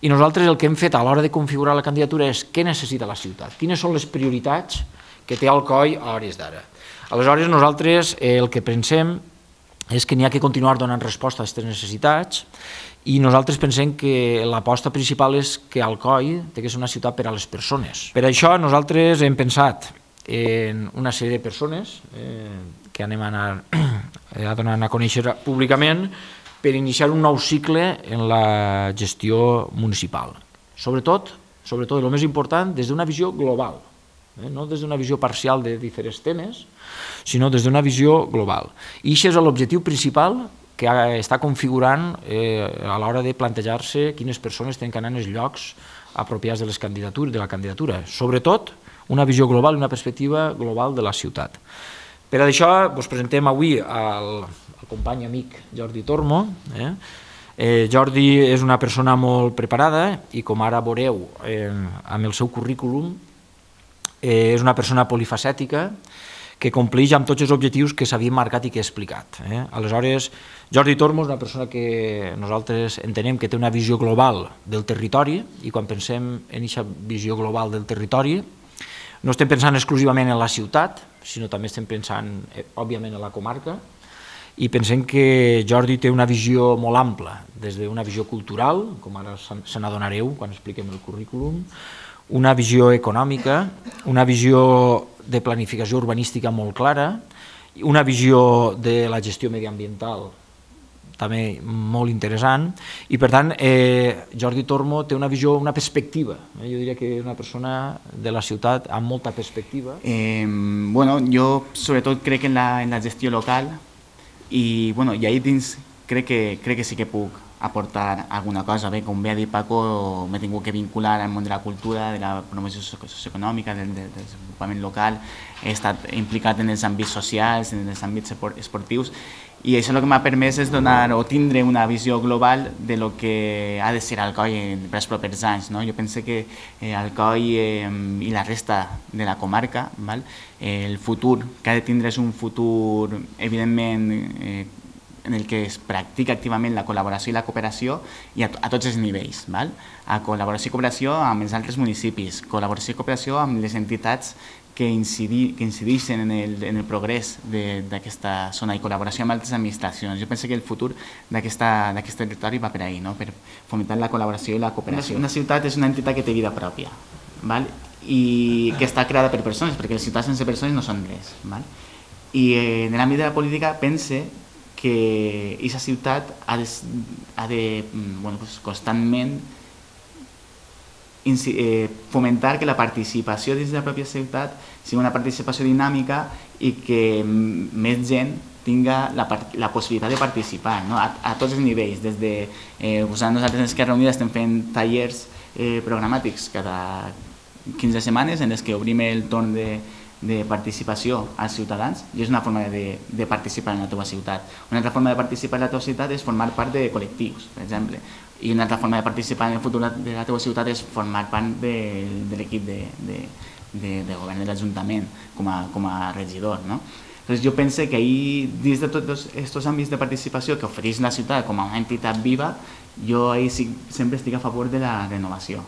I nosaltres el que hem fet a l'hora de configurar la candidatura és què necessita la ciutat, quines són les prioritats que té Alcoi a hores d'ara. Aleshores, nosaltres el que pensem és que n'hi ha que continuar donant resposta a aquestes necessitats i nosaltres pensem que l'aposta principal és que Alcoi té que ser una ciutat per a les persones. Per això nosaltres hem pensat en una sèrie de persones que anem a donar a conèixer públicament per iniciar un nou cicle en la gestió municipal. Sobretot, el més important, des d'una visió global, no des d'una visió parcial de diferents temes, sinó des d'una visió global. I això és l'objectiu principal que està configurant a l'hora de plantejar-se quines persones tenen que anar en els llocs apropiats de la candidatura. Sobretot, una visió global i una perspectiva global de la ciutat. Per això us presentem avui al company amic Jordi Tormo. Jordi és una persona molt preparada i, com ara veureu amb el seu currículum, és una persona polifacètica que compleix amb tots els objectius que s'havien marcat i que he explicat. Aleshores, Jordi Tormo és una persona que nosaltres entenem que té una visió global del territori i quan pensem en aquesta visió global del territori no estem pensant exclusivament en la ciutat, sinó també estem pensant, òbviament, en la comarca i pensem que Jordi té una visió molt ampla, des d'una visió cultural, com ara se n'adonareu quan expliquem el currículum, una visió econòmica, una visió de planificació urbanística molt clara, una visió de la gestió mediambiental també molt interessant i, per tant, Jordi Tormo té una visió, una perspectiva. Jo diria que és una persona de la ciutat amb molta perspectiva. Jo sobretot crec en la gestió local i ahí dins crec que sí que puc aportar alguna cosa. Bé, com bé ha dit Paco, m'he tingut que vincular al món de la cultura, de la promoció socioeconòmica, del desenvolupament local, he estat implicat en els àmbits socials, en els àmbits esportius i això el que m'ha permès és donar o tindre una visió global de lo que ha de ser Alcoi per als propers anys. Jo penso que Alcoi i la resta de la comarca, el futur que ha de tindre és un futur evidentment en el que es practica activament la col·laboració i la cooperació i a tots els nivells. A col·laboració i cooperació amb els altres municipis, col·laboració i cooperació amb les entitats que incideixen en el progrés d'aquesta zona i col·laboració amb altres administracions. Jo penso que el futur d'aquest territori va per ahí, per fomentar la col·laboració i la cooperació. Una ciutat és una entitat que té vida pròpia i que està creada per persones, perquè les ciutats sense persones no són res. I en l'àmbit de la política pense que aquesta ciutat ha de constantment fomentar que la participació dins de la pròpia ciutat sigui una participació dinàmica i que més gent tinga la possibilitat de participar a tots els nivells. Nosaltres a Esquerra Unida estem fent tallers programàtics cada 15 setmanes en els que obrim el torn de participació als ciutadans i és una forma de participar en la teva ciutat. Una altra forma de participar en la teva ciutat és formar part de col·lectius, per exemple, i una altra forma de participar en el futur de la teva ciutat és formar part de l'equip de govern de l'Ajuntament com a regidor. Entonces jo penso que ahí, dins de tots aquests àmbits de participació que ofereix la ciutat com a una entitat viva, jo ahí sempre estic a favor de la renovació.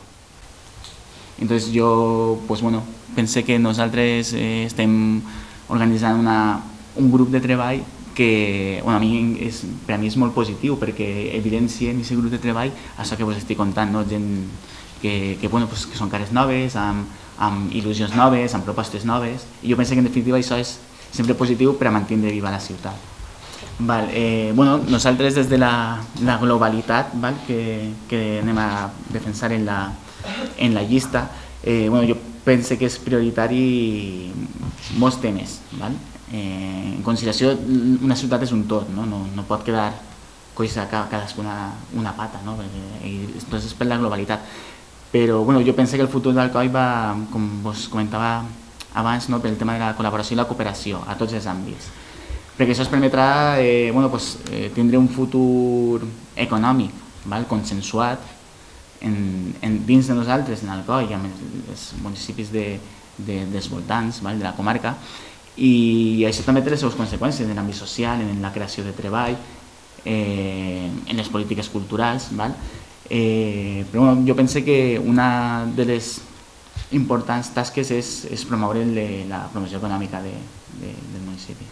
Entonces jo pensé que nosaltres estem organitzant un grup de treball que per a mi és molt positiu perquè evidencia en aquest grup de treball això que vos estic contant, gent que són cares noves, amb il·lusions noves, amb propostes noves i jo penso que en definitiva això és sempre positiu per a mantenir viva la ciutat. Nosaltres des de la globalitat que anem a defensar en la llista, jo penso que és prioritari molts temes. En consideració, una ciutat és un tot, no pot quedar coixa cadascuna una pata, és per la globalitat. Però jo penso que el futur d'Alcoi va, com vos comentava abans, pel tema de la col·laboració i la cooperació a tots els àmbits, perquè això ens permetrà tindre un futur econòmic consensuat dins de nosaltres, en Alcoi i amb els municipis dels voltants de la comarca, i això també té les seves conseqüències en l'àmbit social, en la creació de treball, en les polítiques culturals. Però bueno, jo penso que una de les importants tasques és promoure la promoció econòmica del municipi.